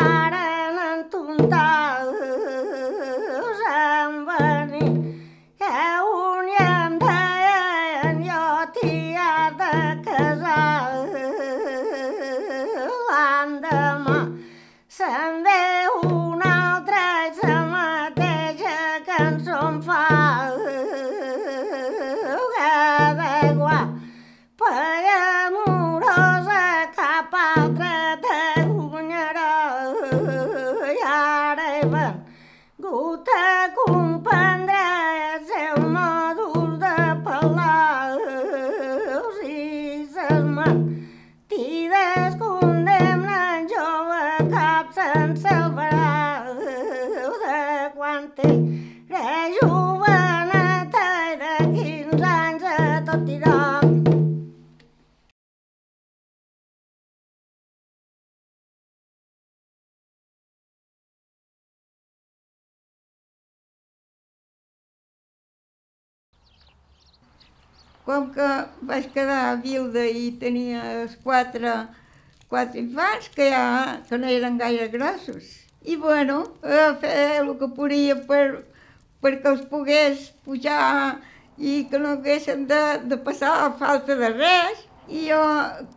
varen entontar se'n venir, que un i em deien jo t'hi has de casar. L'endemà se'n ve un altre i la mateixa cançó em fa. Cada guapa amorosa cap altre t'aguanyarà. I ara he vengut a comprendre els seus modos de parlar. Si ses mentides condemnen, jove cap se'n salvarà. De quan era joveneta i de 15 anys a tot dirà. Com que vaig quedar viuda i tenia els quatre infants, que no eren gaire grossos. I bueno, fer el que podia perquè els pogués pujar i que no haguessin de passar falta de res. I jo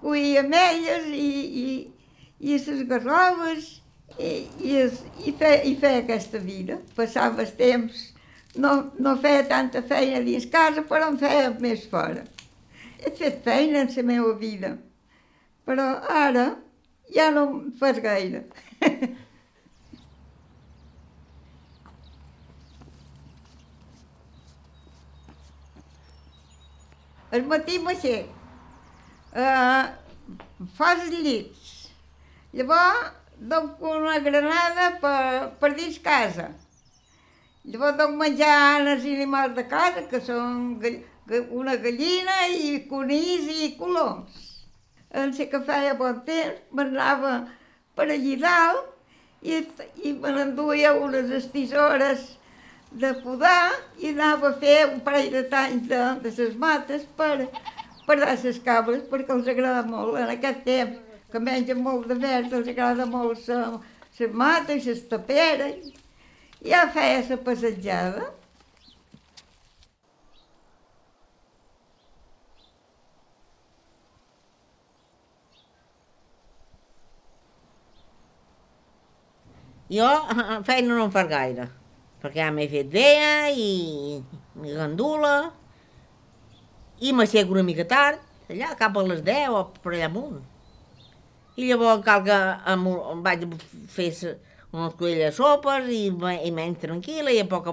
cuia ametlles i les garroves i feia aquesta vida. Passava el temps. No feia tanta feina dins casa, però en feia més fora. He fet feina en la meva vida, però ara ja no em fas gaire. Al matí m'aixec, fas els llits, llavors dono una granada per dins casa. Llavors dono menjar als animals de casa, que són una gallina i conills i coloms. En sé que feia bon temps, m'anava per allí dalt i me n'enduia unes estisores de podar i anava a fer un parell de talls de les mates per dar les cabres, perquè els agrada molt en aquest temps, que mengen molt de verd, els agrada molt les mates i les taperes. Ja feia la passejada. Jo feina no em fas gaire, perquè ja m'he fet vella i gandula i m'aixeco una mica tard, allà cap a les 10 o per allà amunt. I llavors cal que em vaig fer unes colelles de sopes i menys tranquil·la i a poc,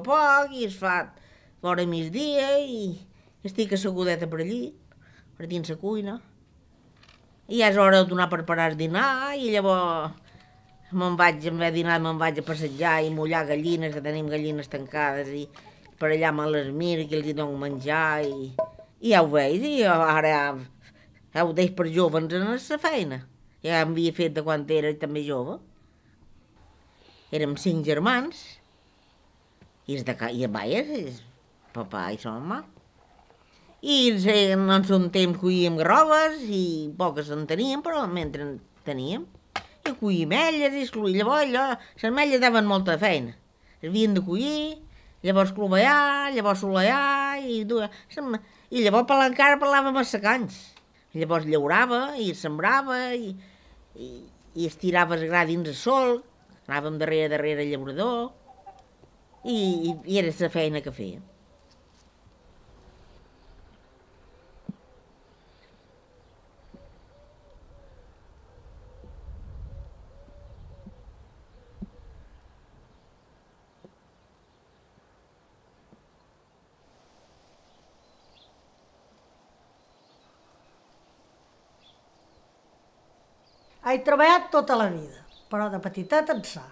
i es fa fora migdia i estic assegudeta per allí, per dins la cuina. I ja és hora de donar per preparar el dinar i llavors en haver dinat me'n vaig a passejar i mullar gallines, que tenim gallines tancades i per allà me les miro i els hi dono menjar i ja ho veig, i ara ja ho deix per joves en la feina. Ja m'havia fet de quan era també jove. Érem 5 germans i papà i sa mamà. I en son temps cuíem garroves i poques en teníem, però mentre en teníem. I cuíem ametlles i llavors les ametlles daven molta feina. Es havien de collir, llavors clovellar, llavors solear i llavors encara parlàvem a secans. Llavors llaurava i sembrava i estirava el gra dins el sol. Anàvem darrere el llaurador i era la feina que feia. He treballat tota la vida, però de petiteta ençà.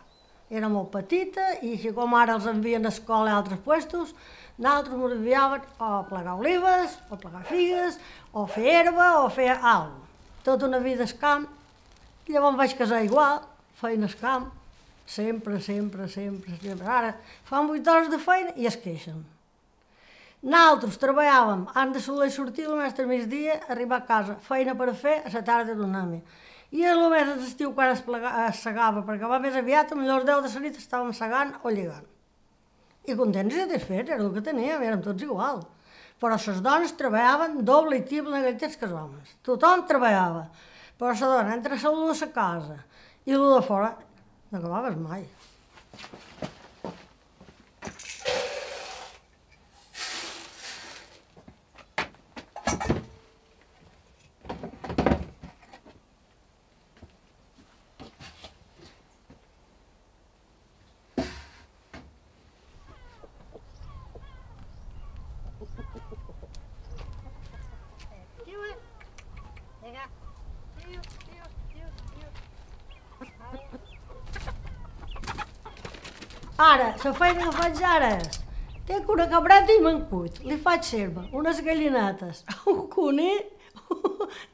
Era molt petita i així com ara els envien a escola a altres puestos, nosaltres ens enviaven o a plegar olives, o a plegar figues, o a fer herba, o a fer alguna cosa. Tota una vida al camp. Llavors em vaig casar igual, feina al camp, sempre. Ara fan 8 hores de feina i es queixen. Nosaltres treballàvem, han de soler sortir el mestre migdia, arribar a casa, feina per a fer, a la tarda tornar-hi. I només a l'estiu quan es segava, perquè va més aviat, a millor 10 de la nit estàvem segant o lligant. I contents i satisfets, era el que teníem, érem tots igual. Però les dones treballaven doble i triple en aquell temps que els homes. Tothom treballava. Però la dona, entre la de la casa i la de fora, no acabaves mai. Ara, la feina que faig ara és, tinc una cabreta i me'n cuid, li faig serva, unes gallinetes, un conill,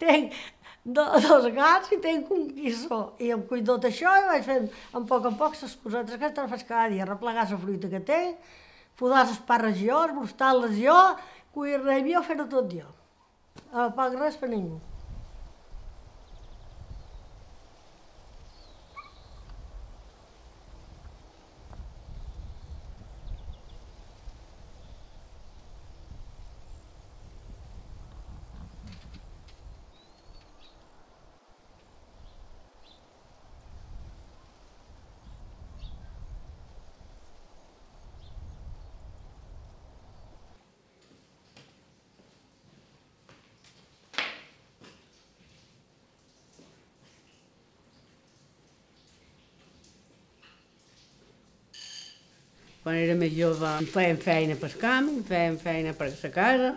tinc dos gats i tinc un quissó. I em cuido tot això i vaig fent en poc les cosetes que te'n faig cada dia, replegar la fruita que tinc, podar les parres jo, esbrostar-les jo, cuir-ne jo, fer-ho tot jo. No pago res per ningú. Quan era més jove fèiem feina pel camp, fèiem feina per la casa.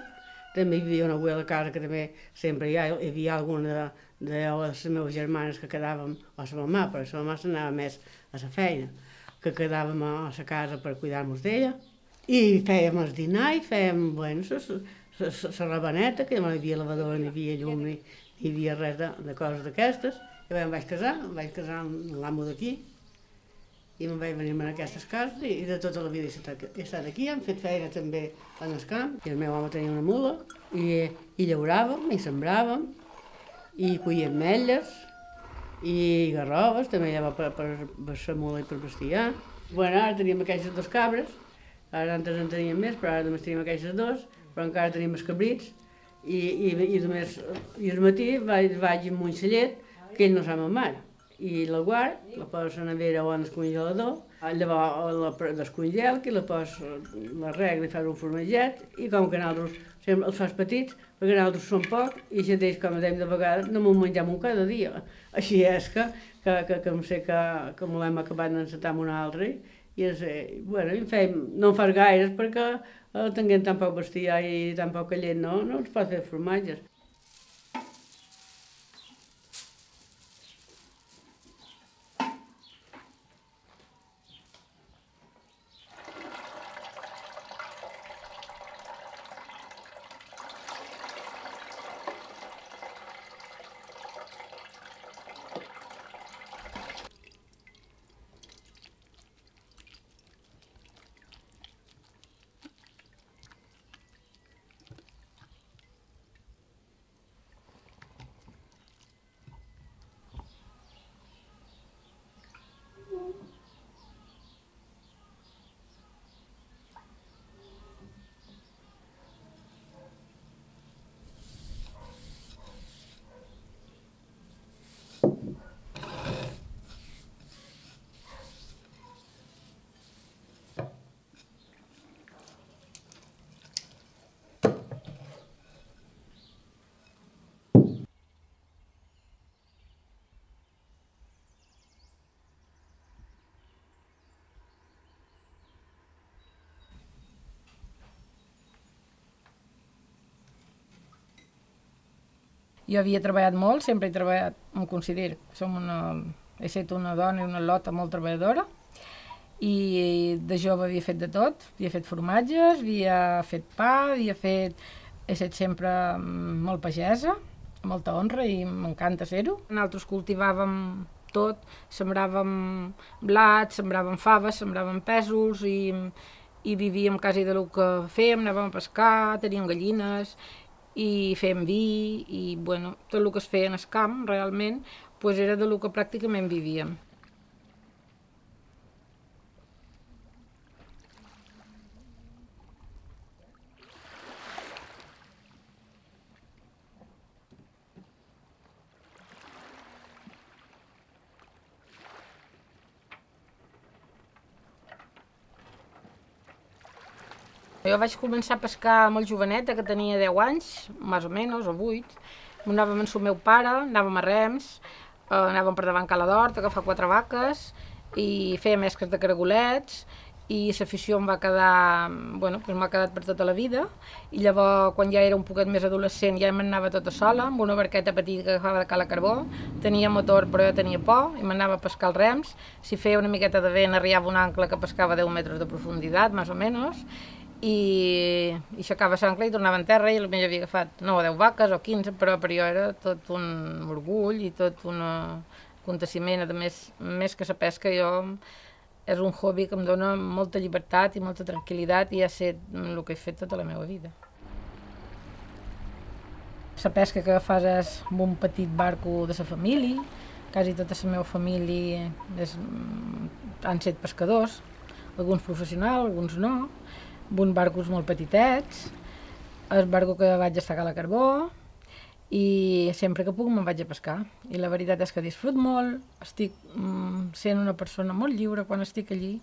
També hi havia una abuela a casa que també sempre hi havia alguna de les meves germanes que quedàvem, o la mamà, però la mamà s'anava més a la feina, que quedàvem a la casa per cuidar-nos d'ella. I fèiem el dinar i fèiem, bueno, la rabaneta, que no hi havia lavadora, ni hi havia llum, ni hi havia res de coses d'aquestes. I em vaig casar amb l'amo d'aquí, i me'n vaig venir a aquestes cases i de tota la vida he estat aquí, hem fet feina també en el camp. I el meu home tenia una mula i llauràvem i sembràvem i collíem ametlles i garroves, també allà per la mula i per bestiar. Bueno, ara teníem aquestes dos cabres, ara antes en teníem més, però ara només teníem aquestes dos, però encara teníem els cabrits i al matí vaig amb un cellet que ell no sap amb mare. I la guard, la poso a la nevera o en el congelador, llavors la descongel, que la poso, la regla i fas un formatget, i com que nosaltres sempre els fas petits, perquè nosaltres som poc, i si ells, com dèiem de vegades, no m'ho mengem un cada dia. Així és que em sé que m'ho hem acabat d'encetar amb un altre, i bueno, no en fas gaires perquè tenint tan poc bestiar i tan poca llet no ens pot fer formatges. Jo havia treballat molt, sempre he treballat, em considero, he estat una dona i una lota molt treballadora, i de jove havia fet de tot, havia fet formatges, havia fet pa, he estat sempre molt pagesa, molta honra i m'encanta ser-ho. Nosaltres cultivàvem tot, sembràvem blat, sembràvem faves, sembràvem pèsols i vivíem quasi del que fèiem, anàvem a pescar, teníem gallines, i fèiem vi, i bueno, tot el que es feia en el camp, realment, doncs era del que pràcticament vivíem. Jo vaig començar a pescar molt joveneta, que tenia 10 anys, més o menys, o 8. Anàvem amb el meu pare, anàvem a rems, anàvem per davant Cala d'Hort, a agafar 4 vaques, i fèiem esques de caragolets, i l'afició em va quedar, bueno, doncs m'ha quedat per tota la vida, i llavors, quan ja era un poquet més adolescent, ja m'anava tota sola, amb una barqueta petita que agafava de cala carbó, tenia motor però jo tenia por, i m'anava a pescar els rems, si feia una miqueta de vent arribava un ancla que pescava 10 metres de profunditat, més o menys, i aixecava l'ancla i tornava en terra i potser havia agafat 9 o 10 vaques o 15, però per jo era tot un orgull i tot un aconteciment. A més que la pesca és un hobby que em dona molta llibertat i molta tranquil·litat i ha estat el que he fet tota la meva vida. La pesca que fas és amb un petit barco de la família, quasi tota la meva família han estat pescadors, alguns professionals, alguns no, amb uns barcos molt petitets, el barco que vaig estar a Cala Carbó, i sempre que puc me'n vaig a pescar. I la veritat és que disfruto molt, estic sent una persona molt lliure quan estic allí,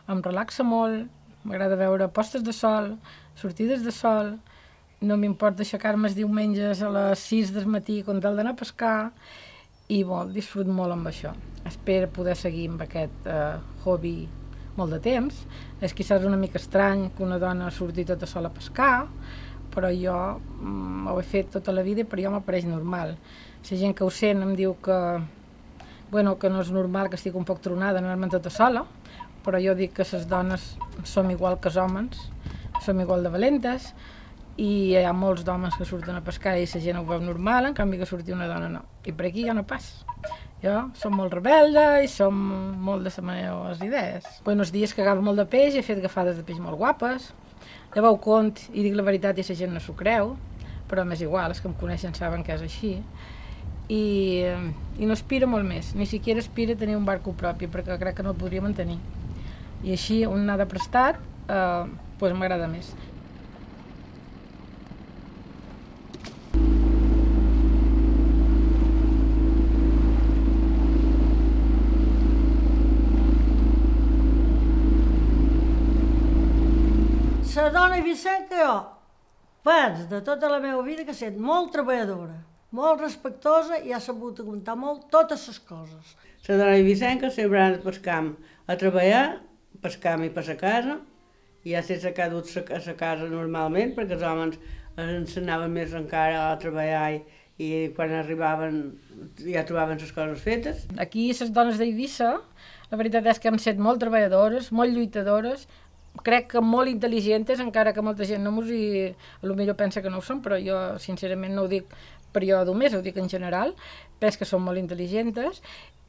em relaxa molt, m'agrada veure postes de sol, sortides de sol, no m'importa aixecar-me els diumenges a les 6 del matí quan cal d'anar a pescar, i disfruto molt amb això. Espero poder seguir amb aquest hobby molt de temps. És quizás una mica estrany que una dona surti tota sola a pescar, però jo ho he fet tota la vida i per jo m'apareix normal. La gent que ho sent em diu que no és normal, que estic un poc tronada anar-me'n tota sola, però jo dic que les dones som igual que els homes, som igual de valentes, i hi ha molts d'homes que surten a pescar i la gent ho veu normal, en canvi que surti una dona no. I per aquí ja no passa. Jo som molt rebelda i som molt de les meves idees. Els dies que agafo molt de peix he fet agafades de peix molt guapes. Llavors ho cont i dic la veritat i la gent no s'ho creu, però m'és igual, els que em coneixen saben que és així. I no aspira molt més, ni siquiera aspira a tenir un barco propi, perquè crec que no el podria mantenir. I així, un anar de prestat, m'agrada més. La dona Vicent que jo penso de tota la meva vida que ha estat molt treballadora, molt respectosa i ha sabut aguantar molt totes les coses. La dona Vicenca sempre ha anat pel camp a treballar, pel camp i per la casa, i ja s'ha quedat a la casa normalment, perquè els homes ens anaven més encara a treballar i quan arribaven ja trobaven les coses fetes. Aquí les dones d'Eivissa, la veritat és que hem estat molt treballadores, molt lluitadores, crec que molt intel·ligents, encara que molta gent no potser pensa que no ho són, però jo sincerament no ho dic per jo només, ho dic en general, penso que són molt intel·ligents,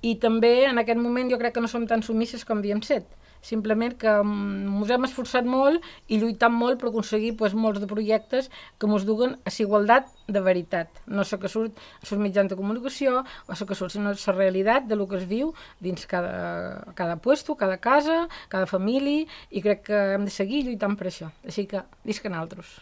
i també en aquest moment jo crec que no som tan submises com havíem set. Simplement que ens hem esforçat molt i lluitat molt per aconseguir molts de projectes que ens duguen a la igualtat de veritat. No la que surt als mitjans de comunicació o la que surt, sinó la realitat del que es viu dins cada puesto, cada casa, cada família, i crec que hem de seguir lluitant per això. Així que visca nosaltres.